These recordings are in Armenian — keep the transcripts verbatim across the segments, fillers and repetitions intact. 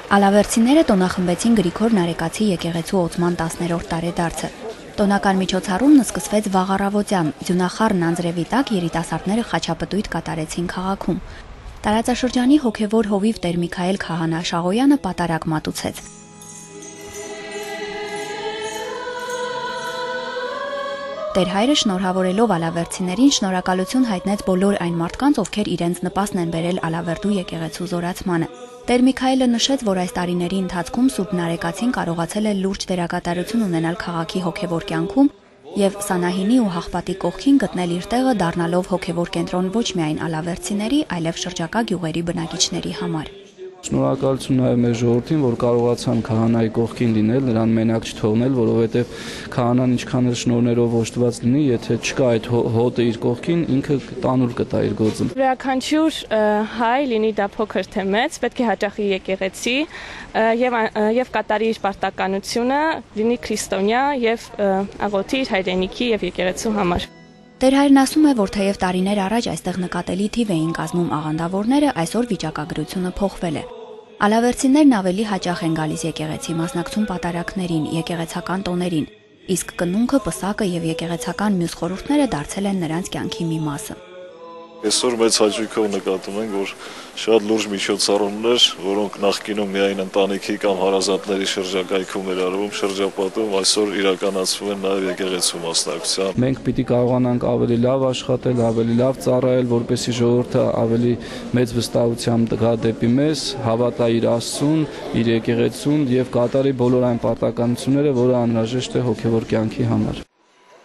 Ալավերցիները տոնախմբեցին Գրիգոր Նարեկացի եկեղեցու ոցման տասներորդ տարեդարձը։ Տոնական միջոցառումն սկսվեց վաղ առավոտյան, ձյունախառն անձրևի տակ երիտասարդները խաչապտույտ կատարեցին քաղաքում։ Տարածաշրջանի հոգևոր հովիվ Տեր Միքայել Քահանա Շաղոյանը պատարակ մատուցեց։ Տեր հայրը շնորհավորելով ալավերցիներին շնորհակալություն հայտնեց բոլոր այն մարդկանց, ովքեր իրենց նպաստն են բերել Ալավերդու եկեղեցու զորացմանը։ Տեր Միքայելը նշեց, որ այս տարիների ընթացքում Սուրբ Նարեկացին կարողացել է լուրջ դերակատարություն ունենալ քաղաքի հոգևոր կյանքում եւ Սանահինի ու Հաղպատի կողքին գտնել իր տեղը, դառնալով հոգևոր կենտրոն ոչ միայն ալավերցիների, այլև շրջակա գյուղերի բնակիչների համար։ Շնորհակալություն նաև մեր ժողովրդին, որ կարողացան քահանայի կողքին լինել, նրան մենակ չթողնել, որովհետև քահանան ինչքան էլ շնորհներով օժտված լինի, եթե չկա այդ հոտը իր կողքին, ինքը տանուլ կտա իր գործը։ Յուրաքանչյուր հայ, լինի դա փոքր թե մեծ, պետք է հաճախի եկեղեցի եւ եւ կատարի իր պարտականությունը, լինի քրիստոնյա եւ աղոթի իր հայրենիքի եւ եկեղեցու համար։ Տեր հայրն ասում է, որ թեև տարիներ առաջ այստեղ նկատելի թիվ էին կազմում աղանդավորները, այսօր վիճակագրությունը փոխվել է։ Ալավերցիներն ավելի հաճախ են գալիս եկեղեցի, մասնակցում պատարակներին, եկեղեցական տոներին, իսկ կնունքը, պսակը եւ եկեղեցական մյուս խորհուրդները դարձել են նրանց կյանքի մի մասը։ Այսօր մեծ հաճույքով նկատում ենք, որ շատ լուրջ միջոցառումներ, որոնք նախկինում միայն ընտանիքի կամ հարազատների շրջակայքում էր արվում, շրջապատում, այսօր իրականացվում են նաև եկեղեցու մասնակցությամբ։ Մենք պիտի կարողանանք ավելի լավ աշխատել, ավելի լավ ծառայել, որպեսզի ժողովուրդը ավելի մեծ վստահությամբ գա դեպի մեզ, հավատա իր Աստծուն, իր եկեղեցուն եւ կատարի բոլոր այն պարտականությունները, որը անհրաժեշտ է հոգեվոր կյանքի համար։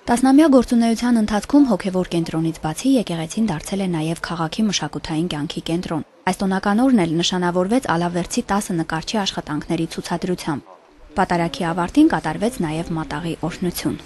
Տասնամյա գործունեության ընթացքում հոգևոր կենտրոնից բացի եկեղեցին դարձել է նաև քաղաքի մշակութային կյանքի կենտրոն։ Այս տոնական օրն էլ նշանավորվեց Ալավերցի տասը նկարչի աշխատանքների ցուցադրությամբ։ Պատարակի ավարտին կատարվեց նաև մատաղի օրհնություն։